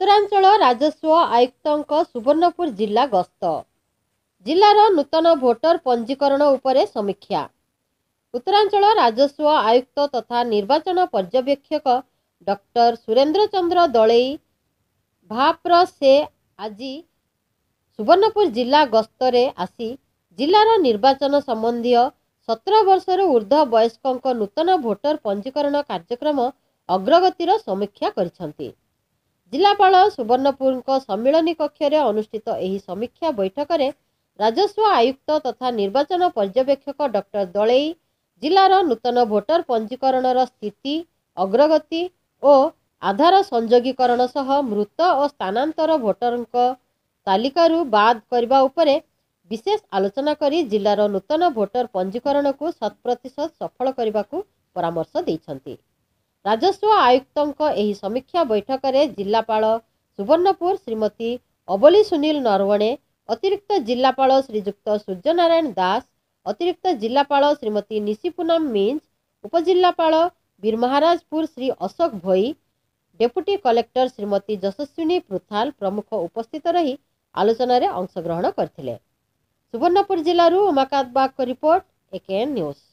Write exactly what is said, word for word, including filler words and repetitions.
ଉତ୍ତରାଞ୍ଚଳ ରାଜସ୍ୱ ଆୟୁକ୍ତଙ୍କ ସୁବର୍ଣ୍ଣପୁର ଜିଲ୍ଲା ଗସ୍ତ। ଜିଲ୍ଲାର ନୂତନ ଭୋଟର ପଞ୍ଜୀକରଣ ଉପରେ ସମୀକ୍ଷା। ଉତ୍ତରାଞ୍ଚଳ ରାଜସ୍ୱ ଆୟୁକ୍ତ ତଥା ନିର୍ବାଚନ ପର୍ଯ୍ୟବେକ୍ଷକ ଡକ୍ଟର ସୁରେନ୍ଦ୍ର ଚନ୍ଦ୍ର ଦଳେଇ ଭାପ୍ର ସେ ଆଜି ସୁବର୍ଣ୍ଣପୁର ଜିଲ୍ଲା ଗସ୍ତରେ ଆସି ଜିଲ୍ଲାର ନିର୍ବାଚନ ସମ୍ବନ୍ଧୀୟ ସତର ବର୍ଷରୁ ଉର୍ଦ୍ଧ୍ୱ ବୟସ୍କଙ୍କ ନୂତନ ଭୋଟର ପଞ୍ଜୀକରଣ କାର୍ଯ୍ୟକ୍ରମ ଅଗ୍ରଗତିର ସମୀକ୍ଷା କରିଛନ୍ତି। ଜିଲ୍ଲାପାଳ ସୁବର୍ଣ୍ଣପୁରଙ୍କ ସମ୍ମିଳନୀ କକ୍ଷରେ ଅନୁଷ୍ଠିତ ଏହି ସମୀକ୍ଷା ବୈଠକରେ ରାଜସ୍ୱ ଆୟୁକ୍ତ ତଥା ନିର୍ବାଚନ ପର୍ଯ୍ୟବେକ୍ଷକ ଡକ୍ଟର ଦଳେଇ ଜିଲ୍ଲାର ନୂତନ ଭୋଟର ପଞ୍ଜୀକରଣର ସ୍ଥିତି, ଅଗ୍ରଗତି ଓ ଆଧାର ସଂଯୋଗୀକରଣ ସହ ମୃତ ଓ ସ୍ଥାନାନ୍ତର ଭୋଟରଙ୍କ ତାଲିକାରୁ ବାଦ୍ କରିବା ଉପରେ ବିଶେଷ ଆଲୋଚନା କରି ଜିଲ୍ଲାର ନୂତନ ଭୋଟର ପଞ୍ଜୀକରଣକୁ ଶତ ପ୍ରତିଶତ ସଫଳ କରିବାକୁ ପରାମର୍ଶ ଦେଇଛନ୍ତି। ରାଜସ୍ୱ ଆୟୁକ୍ତଙ୍କ ଏହି ସମୀକ୍ଷା ବୈଠକରେ ଜିଲ୍ଲାପାଳ ସୁବର୍ଣ୍ଣପୁର ଶ୍ରୀମତୀ ଅବଲି ସୁନୀଲ ନରୱଣେ, ଅତିରିକ୍ତ ଜିଲ୍ଲାପାଳ ଶ୍ରୀଯୁକ୍ତ ସୂର୍ଯ୍ୟନାରାୟଣ ଦାସ, ଅତିରିକ୍ତ ଜିଲ୍ଲାପାଳ ଶ୍ରୀମତୀ ନିଶିପୁନମ ମିଞ୍ଜ, ଉପଜିଲ୍ଲାପାଳ ବୀରମହାରାଜପୁର ଶ୍ରୀ ଅଶୋକ ଭୋଇ, ଡେପୁଟି କଲେକ୍ଟର ଶ୍ରୀମତୀ ଯଶସ୍ୱିନୀ ପୃଥାଲ ପ୍ରମୁଖ ଉପସ୍ଥିତ ରହି ଆଲୋଚନାରେ ଅଂଶଗ୍ରହଣ କରିଥିଲେ। ସୁବର୍ଣ୍ଣପୁର ଜିଲ୍ଲାରୁ ଉମାକାନ୍ତ ବାଗଙ୍କ ରିପୋର୍ଟ, ଏକେଏନ୍ ନ୍ୟୁଜ୍।